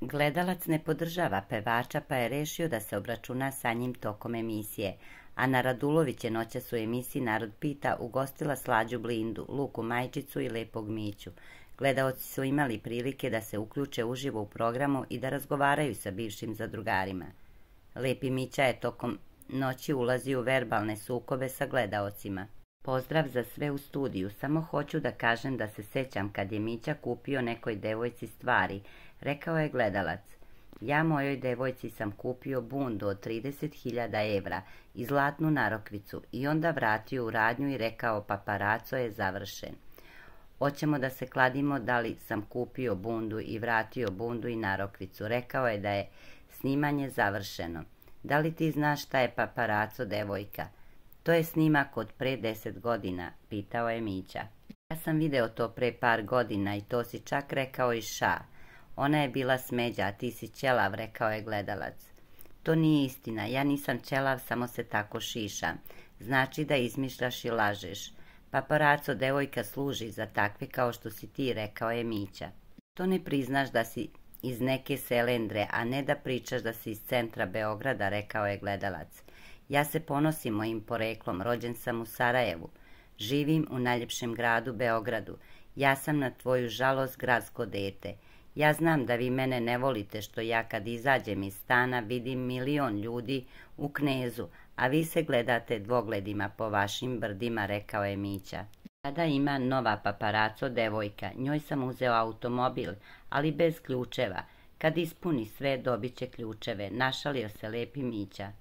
Gledalac ne podržava pevača pa je rešio da se obračuna sa njim tokom emisije. Ana Radulović je noćas u emisiji Narod pita ugostila Slađu Blindu, Luku Majčicu i Lepog Miću. Gledaoci su imali prilike da se uključe uživo u programu i da razgovaraju sa bivšim zadrugarima. Lepi Mića je tokom noći ulazio u verbalne sukobe sa gledaocima. Pozdrav za sve u studiju, samo hoću da kažem da se sećam kad je Mića kupio nekoj devojci stvari, rekao je gledalac. Ja mojoj devojci sam kupio bundu od 30.000 evra i zlatnu narokvicu i onda vratio u radnju i rekao paparaco je završen. Hoćemo da se kladimo da li sam kupio bundu i vratio bundu i narokvicu, rekao je da je snimanje završeno. Da li ti znaš šta je paparaco, devojka? To je snimak od pre 10 godina, pitao je Mića. Ja sam video to pre par godina i to si čak rekao i ša. Ona je bila smeđa, a ti si ćelav, rekao je gledalac. To nije istina, ja nisam ćelav, samo se tako šišam. Znači da izmišljaš i lažeš. Paparaco, devojka služi za takve kao što si ti, rekao je Mića. To ne priznaš da si iz neke selendre, a ne da pričaš da si iz centra Beograda, rekao je gledalac. Ja se ponosim mojim poreklom, rođen sam u Sarajevu. Živim u najljepšem gradu Beogradu. Ja sam na tvoju žalost gradsko dete. Ja znam da vi mene ne volite što ja kad izađem iz stana vidim milion ljudi u Knezu, a vi se gledate dvogledima po vašim brdima, rekao je Mića. Sada ima nova paparaco devojka, njoj sam uzeo automobil, ali bez ključeva. Kad ispuni sve dobit će ključeve, našalio se Lepi Mića.